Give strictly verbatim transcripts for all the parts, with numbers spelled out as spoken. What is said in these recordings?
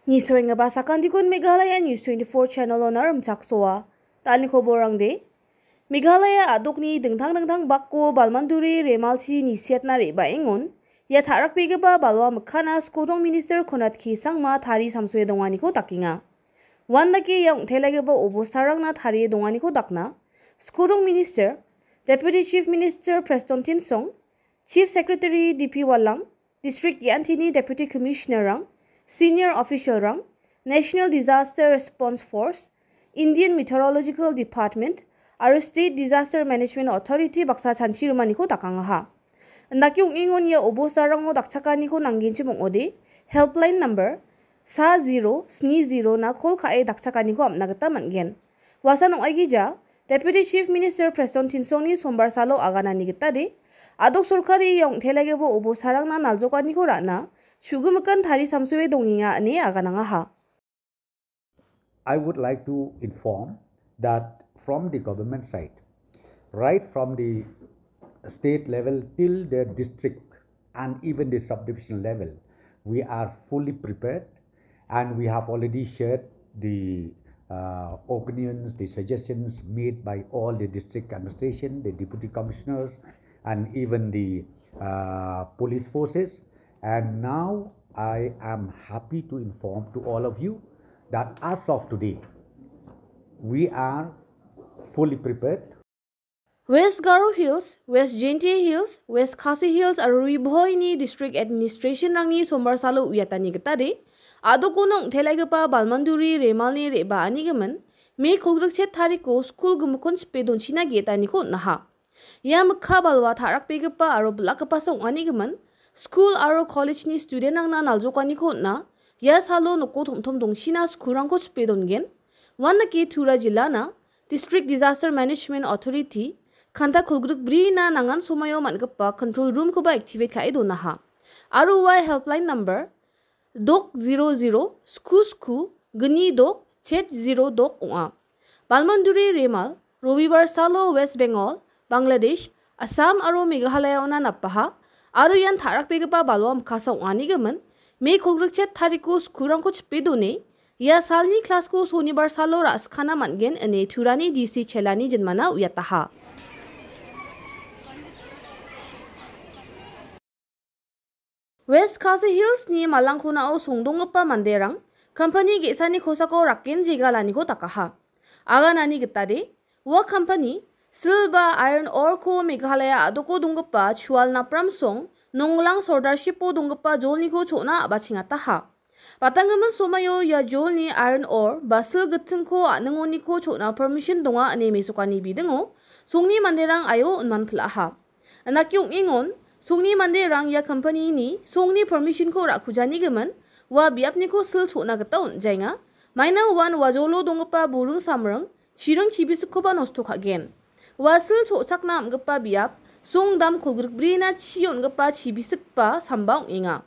Nisoenggipa sakantikon Meghalaya News twenty-four channel-ona rimchaksoa. Tangni koborangde, Meghalaya a·dokni dingtang dingtang bako balmanduri remalchi nisiatna re·baengon, ia ta·rakbegipa balwa mikkana Skodong Minister Conrad K Sangma tari samsoe donganiko dakenga. Uandake ia ong·telaigipa obostarangna tarie donganiko dakna, Skodong Minister, Deputy Chief Minister Preston Tynsong, Chief Secretary D P Wallang, District ge·antini Deputy Commissioner-rang, Senior Official-rang, National Disaster Response Force, Indian Meteorological Department aro State Disaster Management Authority baksa chanchi rimaniko dakangaha. Indake ong·engon ia obostarango dakchakaniko nanggenchim ong·ode, helpline number sa zero sni zero na kol ka·e dakchakaniko am·na gita man·gen. Uasan ong·aigija, Deputy Chief Minister Preston Tynsongni sombar salo aganani gitade, a·dok sorkari ia ong·telaigipa obostarangna naljokaniko ra·na, chu·gimikan tari samsoe dongenga ine aganangaha. I would like to inform that from the government side, right from the state level till the district and even the subdivision level, we are fully prepared and we have already shared the, uh, opinions, the suggestions made by all the district administration, the deputy commissioners, and even the, uh, police forces. And now I am happy to inform to all of you that as of today, we are fully prepared. West Garo Hills, West Jaintia Hills, West Khasi Hills aro Ri Bhoi-ni District Administration-rangni sombar salo uiatani gitade, a·dokon ong·telaigipa balmanduri remalni re·baanigimin, Mei kolgrik chet tariko skul gimikkon chipe donchina ge·etaniko on·aha. Ia mikka balwa ta·rakbegipa aro bilakgipasa ong·anigimin, skul aro college-ni student-rangna naljokaniko on·a, ia salo noko tom·tom dongchina skulrangko chipe dongen. Uandake Tura jilana District Disaster Management Authority, kanta kolgrik brina nangan somoio man·gipa control room-koba activate ka·e donaha. Aro ua helpline number dok zero zero sku sku gni dok chet zero dok ong·a. Balmanduri remal, Robibar salo West Bengal, Bangladesh, Assam aro Meghalaya-ona napaha, aro ian ta·rakbegipa balwa mikasa ong·anigimin, Mei kolgrik chet tariko skulrangko chipe done, ia salni klasko sonibar salo ra·skana man·gen ine Turani D C chelani jinmana uiataha. West Khasi Hills-ni malangkonao songdonggipa manderang company ge·sani kosako raken jegalaniko dakaha. Aganani gitade, ua company sil ba iron ore-ko Meghalaya a·doko donggipa Chual Napramsong, Nonglang Sordarshipo donggipa jolniko cho·na a·bachengataha. Batanggimin somaio ia jolni iron ore ba sil gittingko a·ningoniko cho·na permission donga ine mesokani bidingo songni manderang aio on·manpil·aha. Indake ong·engon, songni manderang ia company-ni songni permission-ko ra·kujanigimin, ua biapniko sil cho·na gita on·jaenga. Maina uan ua jolo donggipa buring samring, chiring chibisikkoba nosto ka·gen. Ua sil cho·chakna am·gipa biap, song dam kolgrikbrina chi on·gipa chibisikba samba ong·enga.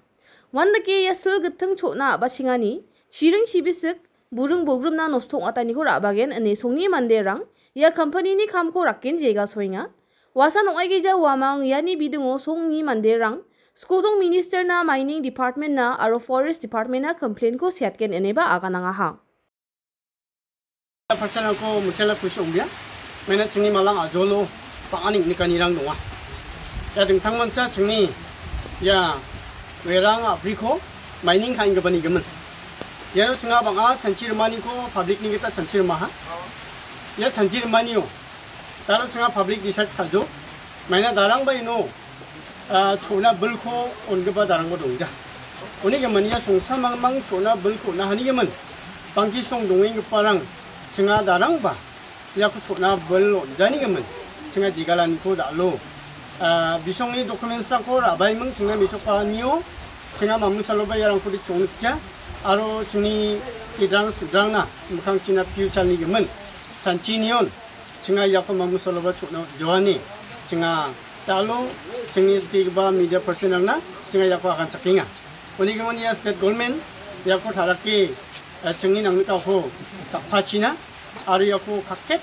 Uandake ia sil gitting cho·na a·bachengani chiring chibisik, buring bolgrimna nosto ong·ataniko ra·bagen ine songni manderang ia company-ni kamko raken jegasoenga. Uasan ong·aigija uamang iani bidingo songni manderang Skotong Minister-na, Mining Department-na aro Forest Department-na complain-ko seatgen ineba aganangaha. Percent-rangko mitela kusi ong·bia. Maina chingni malang a·jolo bang·a neng·nikanirang donga. Ia dingtangmancha chingni ia werang a·briko mining ka·enggipani gimin. Iano chinga bang·a chanchi rimaniko public-ni gita chanchi rimaha. Ia chanchi rimanio daro chinga public decide ka·jo. Maina darangba ino ah, cho·na bilko on·gipa darangba dongja. Uni gimin ia songsa mangmang cho·na bilko on·a hanigimin, bangki song dongenggiparang chinga darangba iako cho·na bil on·janigimin chinga jegalaniko da·alo. Ah, bisongni documents-rangko ra·baiming chinga mesokbaanio chinga mamung saloba iarangko de chongnikja aro chingni idrang sudrangna mikkangchina future-ni gimin chanchinion chinga iako mamung saloba cho·na joani chinga da·alo chingni skigipa media person-rangna chinga iako aganchakenga. Uni gimin ia state government iako tarake, eh, chingni nangnikako dapachina aro iako kaket,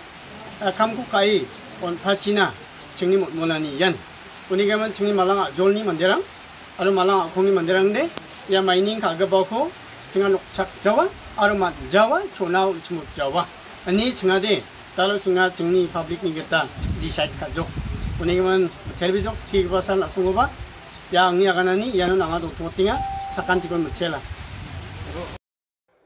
eh, kamko ka·e on·pachina chingni motmonani ian. Uni gimin chingni malang a·jolni manderang aro malang a·kongni manderangde ia mining ka·gipako Chinga nokchak jawa, aro mat jawa, chonao chimut jawa. Ani chingade, talo chinga chingni public ni gita decide kajok. Unigimin televizok skigipa san asongoba, ya angni aganani, iano nanga dongtomotenga, sakantikon mitela.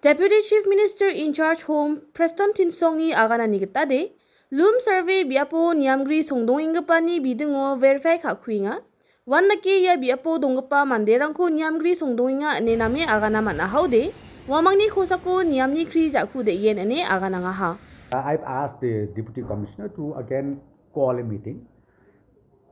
Deputy Chief Minister in charge Home Prestone Tynsongni aganani gitade, Loom Survey biapo niamgri songdongenggipani bidingo verify ka·kuenga. Uandake ia biapo donggipa manderangko niamgri songdongenga ine name agana man·ahaode, uamangni kosako niamni kri ja·ku de·gen ine aganangaha. I've asked the Deputy Commissioner to again call a meeting,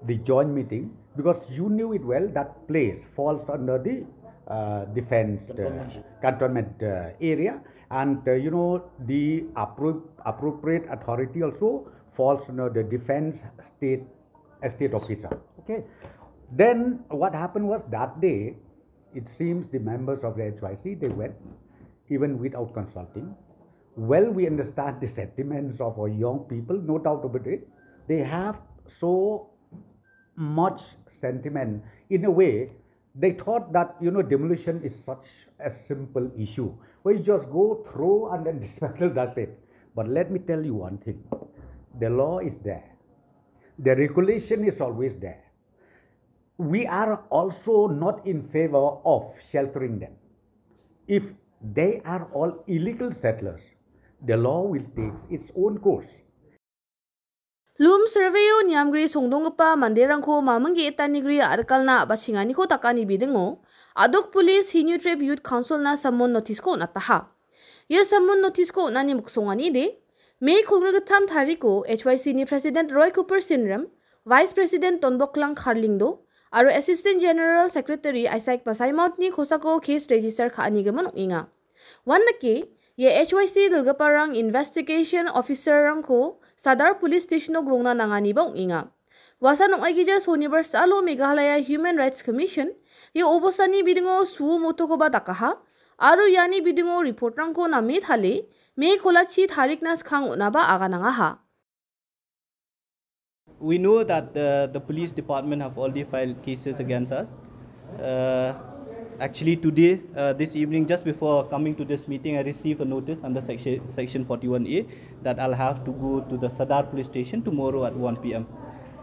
the joint meeting, because you knew it well that place falls under the, uh, defense, uh, cantonment, uh, area, and, uh, you know, the appro-, appropriate authority also falls under the defense state, a state officer. Okay. Then what happened was that day, it seems the members of the H Y C, they went, even without consulting. Well, we understand the sentiments of our young people, no doubt about it. They have so much sentiment. In a way, they thought that, you know, demolition is such a simple issue. We just go through and then dismantle, that's it. But let me tell you one thing. The law is there. The regulation is always there. We are also not in favor of sheltering them. If they are all illegal settlers, the law will take its own course. Loom Survey-o niamgri songdonggipa manderangko maming ge·etanigri a·rikalna a·bachenganiko dakani bidingo, Adok Police Hynniewtrep Youth Council-na summon notice-ko on·ataha. Ia summon notice-ko on·ani miksonganide, May kolgrikgittam tariko H Y C-ni President Roy Cooper Synrem, Vice President Donboklang Kharlyngdoh, aro Assistant General Secretary Isaac Basaimauntni kosako case register ka·anigimin ong·enga. Uandake, ia H Y C dilgiparang investigation officer-rangko Sadar Police Station-o grongna nanganiba ong·enga. Uasan ong·aigija sonibar salo Meghalaya Human Rights Commission ia obostani bidingo suo motokoba dakaha, aro iani bidingo report-rangko name tale, May kolachi tarikna skang on·aba aganangaha. We know that the, the police department have already filed cases against us. Uh, actually, today, uh, this evening, just before coming to this meeting, I received a notice under section, section forty-one A that I'll have to go to the Sadar police station tomorrow at one P M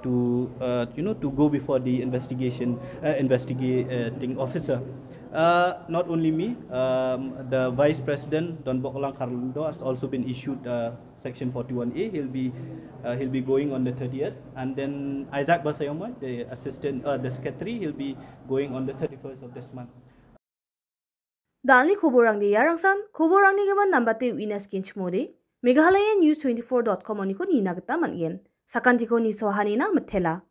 to, uh, you know, to go before the investigation, uh, investigating officer. Uh, not only me, um, the vice president, Donboklang Kharlyngdoh, has also been issued, uh, section forty-one A. He'll be, uh, he'll be going on the thirtieth, and then Isaac Basaimaunt, the assistant, uh, the secretary, he'll be going on the thirty-first of this month. Dalni koborangde iarangsan, koborangni gimin nambate uina skenchimode, Meghalaya News twenty-four dot com oniko nina gita man·gen. Sakantiko nisoahanina mitela.